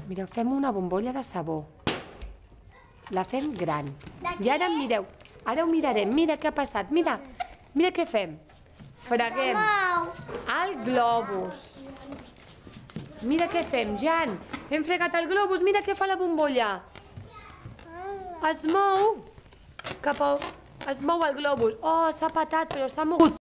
Mireu, fem una bombolla de sabó. La fem gran. I ara mireu, ara ho mirarem. Mira què ha passat, mira. Mira què fem. Freguem el globus. Mira què fem, Jan. Hem fregat el globus, mira què fa la bombolla. Es mou cap a... Es mou el globus. Oh, s'ha petat, però s'ha mogut.